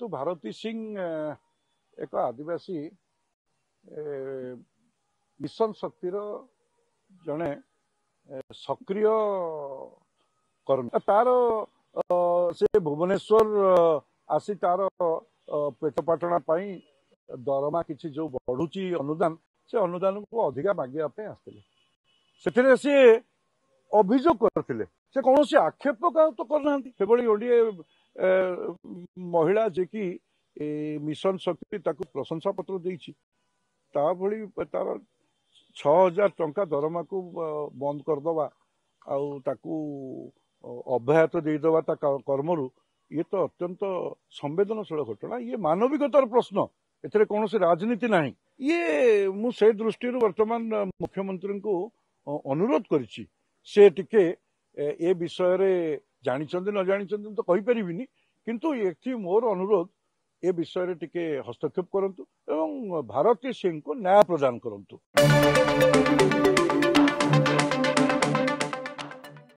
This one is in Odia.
ଯେହେତୁ ଭାରତୀ ସିଂ ଏକ ଆଦିବାସୀ ମିଶନ ଶକ୍ତିର ଜଣେ ସକ୍ରିୟ କର୍ମୀ, ତାର ସେ ଭୁବନେଶ୍ୱର ଆସି ତାର ପେଟ ପାଟଣା ପାଇଁ ଦରମା କିଛି ଯୋଉ ବଢୁଛି ଅନୁଦାନ, ସେ ଅନୁଦାନକୁ ଅଧିକା ମାଗିବା ପାଇଁ ଆସିଥିଲେ। ସେଥିରେ ସିଏ ଅଭିଯୋଗ କରିଥିଲେ, ସେ କୌଣସି ଆକ୍ଷେପ କାହାକୁ ତ କରିନାହାନ୍ତି। ସେଭଳି ଗୋଟିଏ ମହିଳା ଯିଏକି ମିଶନ ଶକ୍ତି ତାକୁ ପ୍ରଶଂସା ପତ୍ର ଦେଇଛି, ତା ଭଳି ତାର 6000 ଟଙ୍କା ଦରମାକୁ ବନ୍ଦ କରିଦେବା ଆଉ ତାକୁ ଅବ୍ୟାହତ ଦେଇଦେବା ତା କର୍ମରୁ, ଇଏ ତ ଅତ୍ୟନ୍ତ ସମ୍ବେଦନଶୀଳ ଘଟଣା। ଇଏ ମାନବିକତାର ପ୍ରଶ୍ନ, ଏଥିରେ କୌଣସି ରାଜନୀତି ନାହିଁ। ଇଏ ମୁଁ ସେ ଦୃଷ୍ଟିରୁ ବର୍ତ୍ତମାନ ମୁଖ୍ୟମନ୍ତ୍ରୀଙ୍କୁ ଅନୁରୋଧ କରିଛି, ସେ ଟିକେ ଏ ବିଷୟରେ ଜାଣିଛନ୍ତି ନ ଜାଣିଛନ୍ତି ମୁଁ ତ କହିପାରିବିନି, କିନ୍ତୁ ଏଠି ମୋର ଅନୁରୋଧ ଏ ବିଷୟରେ ଟିକେ ହସ୍ତକ୍ଷେପ କରନ୍ତୁ ଏବଂ ଭାରତୀ ସିଂଙ୍କୁ ନ୍ୟାୟ ପ୍ରଦାନ କରନ୍ତୁ।